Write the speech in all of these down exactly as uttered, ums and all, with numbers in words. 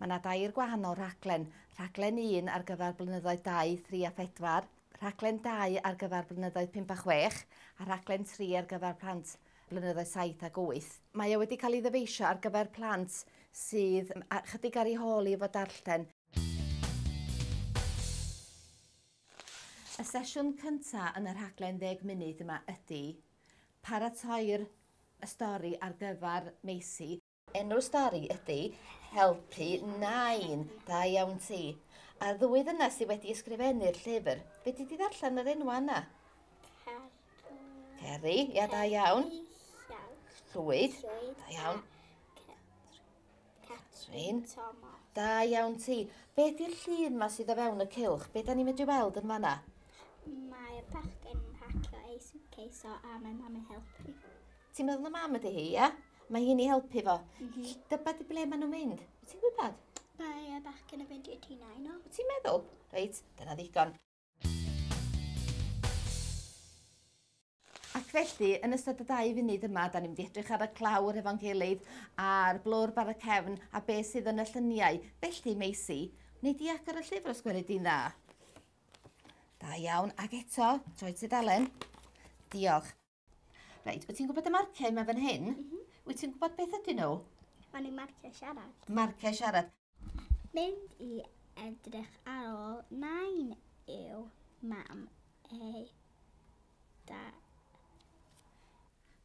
Mae yna dair gwahanol rhaglen. Rhaglen un ar gyfer blynyddoedd dau, tri a phedwar, rhaglen dau ar gyfer blynyddoedd pump a chwech, a rhaglen tri ar gyfer plant blynyddoedd saith ac wyth. Mae o wedi cael ei ddyfeisio ar gyfer plant sydd chydig ar ei hôl i efo darllen. Y sesiwn cyntaf yn y rhaglen ddeg munud yma ydy paratoi'r stori ar gyfer Maisie. Enw'r stori ydy Helpu Nain, da iawn ti. A'r ddwy ddynas sydd wedi ysgrifennu'r llyfr, be di di ddarllen yr enwa yna? Ceri, ia, da iawn. Llwyd, da iawn. Catrin, da iawn ti. Be di'r llun ma sydd o fewn y cylch? Be da ni'n medru weld yn fanna? Mae'r bachgen yn pacio ei suitcase o a mae mam yn helpu. Ti'n meddwl na mam ydy hi, ia? Mae hi'n ei helpu fo. Mm -hmm. Dyba di ble maen nhw'n mynd? Wyt ti'n gwybod? Mae y bachgen yn mynd i'r tŷ nain o. Wyt ti'n meddwl? Reit, dyna ddigon. Ac felly, yn ystod y dau funud yma, da ni'n mynd i edrych ar y clawr efo'n gilydd, a'r blwrb ar y cefn, a beth sydd yn y lluniau. Felly, Maisie, wnei di agor y llyfr os gweli di'n dda? Da iawn, ac eto, troi tudalen. Diolch. Reit, wyt ti'n gwybod y marciau yma fan hyn? Mm -hmm. Wyt ti'n gwybod beth ydyn nhw? Maen nhw'n marciau siarad. Marciau siarad. Mynd i edrych ar ôl nain yw mam ei da.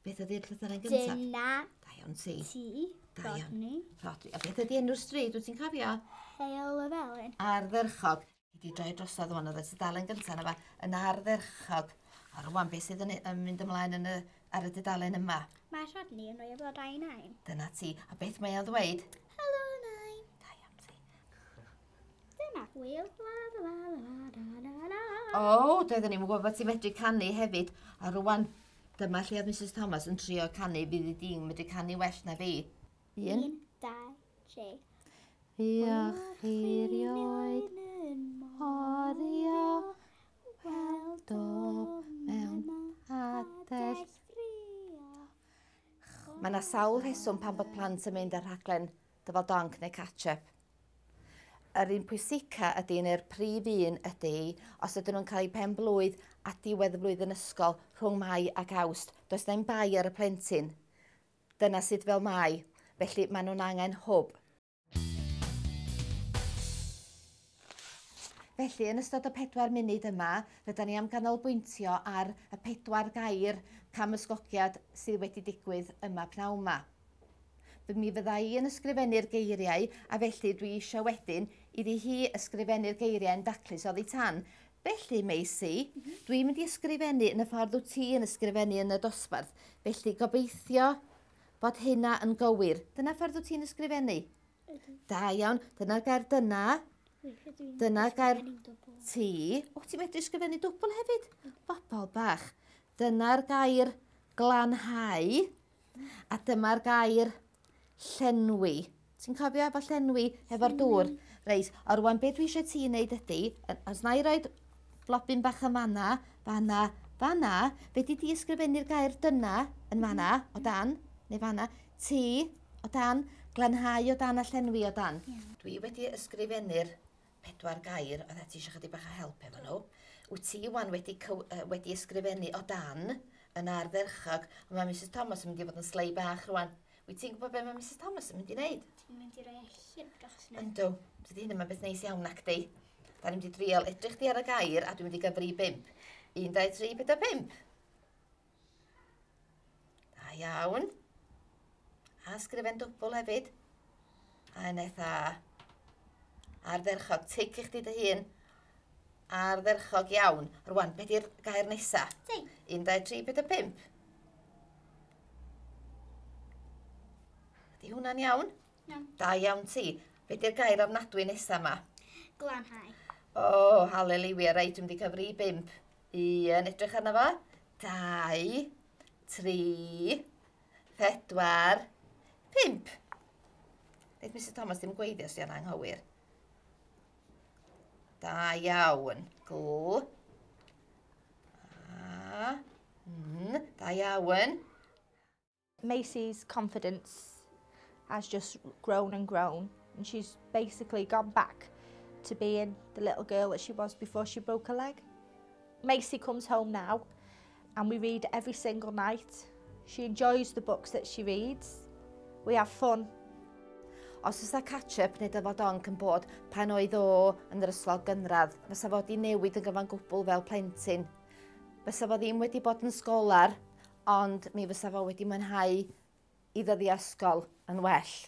Beth ydy'r llythyren gyntaf? Dyna. Da iawn ti. Ti. Da iawn. Rodney. A beth ydy enw'r stryd, wyt ti'n cofio? Heol y Felin. Ardderchog. I di droi drosodd wan, oedd y tudalen gyntaf yna fa, yn ardderchog. A rwan, beth sydd yn, yn mynd ymlaen yn y, ar y dudalen yma? Mae Rodney yn rhoi y blodau i nain. Dyna ti. A beth mae o'n ddweud? Helo, nain. Da iawn ti. Dyna. Wil, la, la, la, la, la, la. O, doeddwn ni'n gwybod bod ti'n medru canu hefyd. A rwan, dyma lle oedd Missus Thomas yn trio canu, fydd i di'n medru canu well na fi. Un. Un, dau, tri. Fuoch chi rioed morio, weld o mewn padell. Mae yna sawl rheswm pan bod plant yn mynd ar rhaglen Dyfal Donc neu Catch-up. Yr un pwysica ydy, neu'r prif un ydy, os ydyn nhw'n cael eu pen blwydd a diwedd y flwyddyn ysgol rhwng Mai ac Awst, does na'm bai ar y plentyn. Dyna sut fel mai. Felly maen nhw'n angen hwb. Felly, yn ystod y pedwar munud yma, rydyn ni am ganolbwyntio ar y pedwar gair camysgogiad sydd wedi digwydd yma pnawn yma. Mi fydda i yn ysgrifennu'r geiriau, a felly dwi eisiau wedyn iddi hi ysgrifennu'r geiriau yn daclus oddi tan. Felly, Maisie, mm -hmm. dwi'n mynd i ysgrifennu yn y ffordd wyt ti yn ysgrifennu yn y dosbarth. Felly, gobeithio bod hynna yn gywir. Dyna ffordd wyt ti'n ysgrifennu? Ydw. Da iawn. Dyna'r gair dyna. Dyna gair ti. O, ti'n medru ysgrifennu dwbl hefyd? Bobol bach. Dyna'r gair glanhau. A dyma'r gair llenwi. Ti'n cofio efo llenwi efo'r dŵr? Reit, a rwan beth dwi eisiau ti wneud ydy, os na i roed blobyn bach yn fanna, fanna, fanna, fe di di ysgrifennu'r gair dyna yn fanna, o dan, neu fanna, ti, o dan, glanhau o dan a llenwi o dan. Yeah. Dwi wedi ysgrifennu'r pedwar gair, oedd ti eisiau chydig bach o help efo nhw. Wyt ti wan wedi, wedi ysgrifennu o dan yn ardderchog, ond mae Missus Thomas yn mynd i fod yn slei bach rwan. Wyt ti'n gwybod beth mae Missus Thomas yn mynd i wneud? Ti'n mynd i roi llyfr dros nhw. Yndw. Dydy hyn yma'n beth neis iawn nac di. Da ni'n mynd i drial edrych di ar y gair a dwi'n mynd i gyfri bump. Un, dau, tri, pedwar, pump. Da iawn. A sgrifen dwbl hefyd. A yn eitha ardderchog. Tic i chdi dy hun. Ardderchog iawn. Rwan, be di'r gair nesa? Ti. Un, dau, tri, pedwar, pump. Ydy hwnna'n iawn? Iawn. Da iawn ti. Be di'r gair ofnadwy nesa yma? Glanhau. O, oh, haleliwia, reit, dwi'n mynd i cyfri i bump. Un, edrych arno fo. Dau, tri, pedwar, pump. Neith Missus Thomas ddim gweithio os di o'n anghywir. Da iawn. Gl. A. N. Da iawn. Maisie's confidence has just grown and grown. And she's basically gone back to being the little girl that she was before she broke her leg. Macy comes home now and we read every single night. She enjoys the books that she reads. We have fun. Os oes catch-up neu dyfod onc yn bod pan oedd o yn yr ysgol gynradd, fysa fo 'di newid yn gyfan gwbl fel plentyn. Fysa fo ddim wedi bod yn sgolar, ond mi fysa fo wedi mwynhau ei ddyddiau ysgol yn well.